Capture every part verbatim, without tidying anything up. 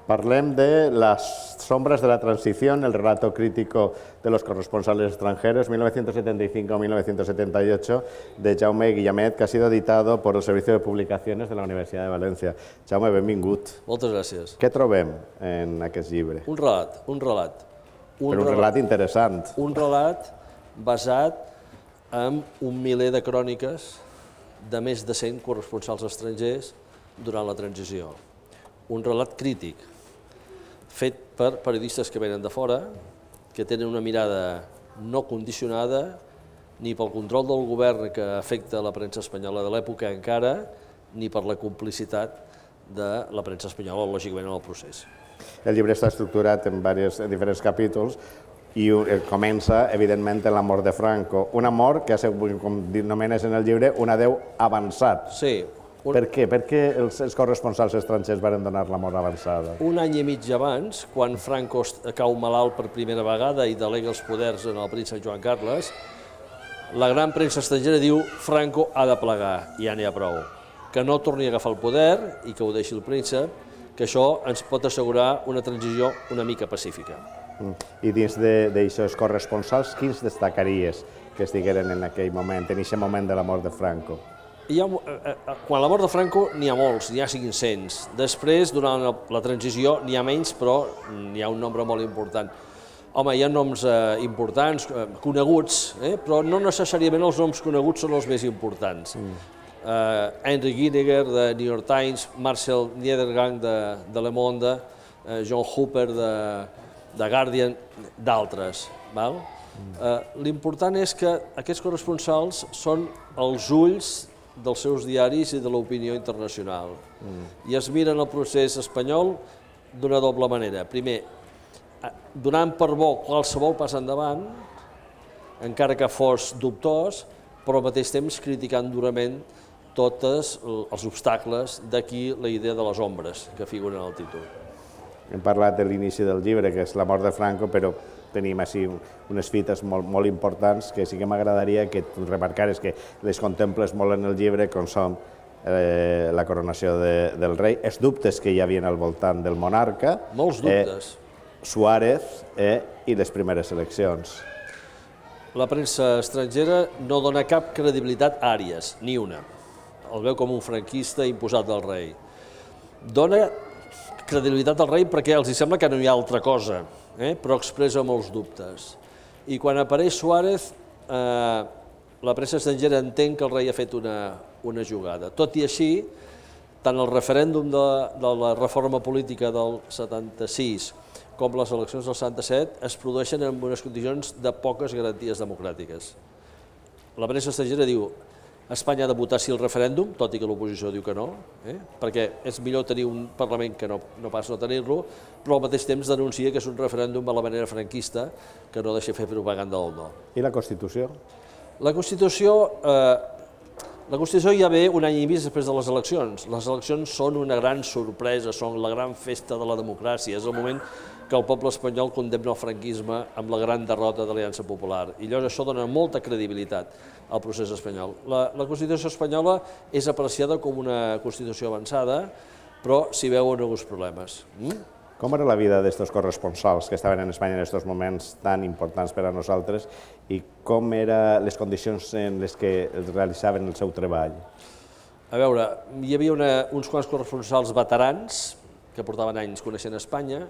Parlem de Las sombras de la transición, el relato crítico de los corresponsales extranjeros, mil novecientos setenta y cinco a mil novecientos setenta y ocho, de Jaume Guillamet, que ha sido editado por el Servicio de Publicaciones de la Universitat de València. Jaume, benvingut. Moltes gràcies. Què trobem en aquest llibre? Un relat, un relat. Un Però un relat interessant. Un relat basat en un miler de cròniques de més de cent corresponsals estrangers durant la transició. Un relat crític, fet per periodistes que venen de fora, que tenen una mirada no condicionada ni pel control del govern que afecta la premsa espanyola de l'època encara, ni per la complicitat de la premsa espanyola, lògicament, en el procés. El llibre està estructurat en, diversos, en diferents capítols i comença, evidentment, en la mort de Franco. Una mort que, com anomenes en el llibre, un adeu avançat. Sí. Un... Per què? Per què els, els corresponsals estrangers van donar la mort avançada? Un any i mig abans, quan Franco cau malalt per primera vegada i delega els poders en el príncep Joan Carles, la gran premsa estrangera diu Franco ha de plegar, ja n'hi ha prou. Que no torni a agafar el poder i que ho deixi el príncep, que això ens pot assegurar una transició una mica pacífica. I dins d'aixòs corresponsals, quins destacaries que estigueren en aquell moment, en aquest moment de la mort de Franco? Hi ha, quan la mort de Franco n'hi ha molts, n'hi ha cinc-cents. Després, durant la transició, n'hi ha menys, però n'hi ha un nombre molt important. Home, hi ha noms eh, importants, eh, coneguts, eh, però no necessàriament els noms coneguts són els més importants. Mm. Uh, Henry Gineger, de New York Times, Marcel Niedergang, de, de Le Monde, uh, John Hooper, de, de Guardian, d'altres. Mm. Uh, L'important és que aquests corresponsals són els ulls dels seus diaris i de l'opinió internacional. Mm. I es miren el procés espanyol d'una doble manera. Primer, donant per bo qualsevol pas endavant, encara que fos dubtós, però al mateix temps criticant durament tots els obstacles d'aquí la idea de les ombres que figuren al títol. Hem parlat de l'inici del llibre, que és la mort de Franco, però tenim així unes fites molt, molt importants que sí que m'agradaria que tu remarcares, que les contemples molt en el llibre, com són eh, la coronació de, del rei, els dubtes que hi havia al voltant del monarca, molts dubtes. Eh, Suárez eh, i les primeres eleccions. La premsa estrangera no dona cap credibilitat a Àries, ni una. El veu com un franquista imposat del rei. Dona credibilitat al rei perquè els sembla que no hi ha altra cosa, eh? però expressa molts dubtes. I quan apareix Suárez, eh, la premsa estrangera entén que el rei ha fet una, una jugada. Tot i així, tant el referèndum de, de la reforma política del setanta-sis com les eleccions del setanta-set es produeixen en unes condicions de poques garanties democràtiques. La premsa estrangera diu Espanya ha de votar sí el referèndum, tot i que l'oposició diu que no, eh? perquè és millor tenir un Parlament que no, no pas no tenir-lo, però al mateix temps denuncia que és un referèndum a la manera franquista que no deixa fer propaganda del no. I la Constitució? La Constitució, eh, la Constitució ja ve un any i mig després de les eleccions. Les eleccions són una gran sorpresa, són la gran festa de la democràcia, és el moment que el poble espanyol condemna el franquisme amb la gran derrota de l'Aliança Popular. I llavors això dona molta credibilitat al procés espanyol. La, la Constitució espanyola és apreciada com una Constitució avançada, però s'hi veuen alguns problemes. Mm? Com era la vida d'estos corresponsals que estaven en Espanya en aquests moments tan importants per a nosaltres i com eren les condicions en les que realitzaven el seu treball? A veure, hi havia una, uns quants corresponsals veterans que portaven anys coneixent Espanya,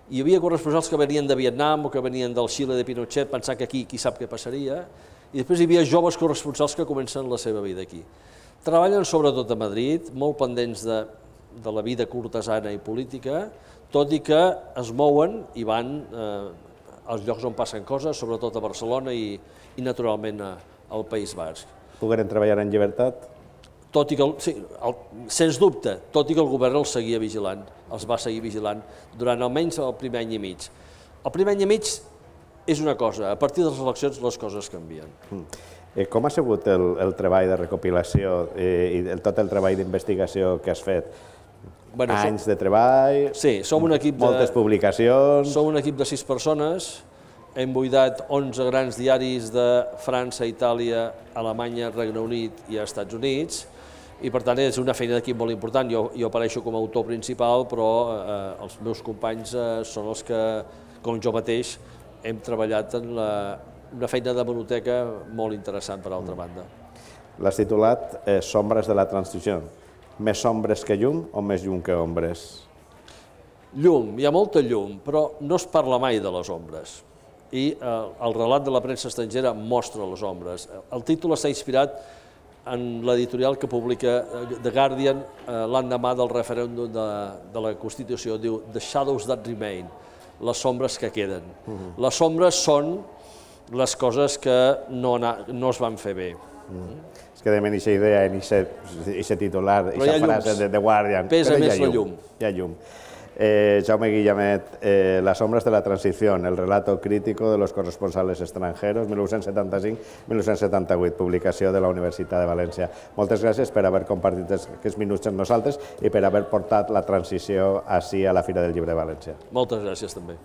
hi havia corresponsals que venien de Vietnam o que venien del Xile de Pinochet, pensant que aquí qui sap què passaria, i després hi havia joves corresponsals que comencen la seva vida aquí. Treballen sobretot a Madrid, molt pendents de, de la vida cortesana i política, tot i que es mouen i van eh, als llocs on passen coses, sobretot a Barcelona i, i naturalment a, al País Basc. Pogueren treballar en llibertat? Tot i que, sí, el, sens dubte, tot i que el govern els seguia vigilant, els va seguir vigilant durant almenys el primer any i mig. El primer any i mig és una cosa, a partir de les eleccions les coses canvien. Mm. Eh, com ha sigut el, el treball de recopilació eh, i el, tot el treball d'investigació que has fet? Bueno, anys som, de treball, sí, som un equip moltes de, publicacions... Som un equip de sis persones, hem buidat onze grans diaris de França, Itàlia, Alemanya, Regne Unit i Estats Units, i per tant és una feina d'equip molt important. Jo, jo apareixo com a autor principal, però eh, els meus companys eh, són els que, com jo mateix, hem treballat en la, una feina de biblioteca molt interessant, per altra banda. L'has titulat eh, Sombres de la transició. Més ombres que llum o més llum que ombres? Llum, hi ha molta llum, però no es parla mai de les ombres. I eh, el relat de la premsa estrangera mostra les ombres. El títol està inspirat en l'editorial que publica The Guardian eh, l'endemà del referèndum de, de la Constitució. Diu The Shadows That Remain, les sombres que queden. Uh-huh. Les sombres són les coses que no, no es van fer bé. Uh-huh. És que de aquesta idea, en aquest titular, aquesta frase de The Guardian... Pesa més la llum. Hi ha llum. Eh, Jaume Guillamet, eh, Las sombras de la transición, el relato crítico de los corresponsales extranjeros, mil nou-cents setanta-cinc a mil nou-cents setanta-vuit, publicació de la Universitat de València. Moltes gràcies per haver compartit aquests minuts amb nosaltres i per haver portat la transició ací a la Fira del Llibre de València. Moltes gràcies també.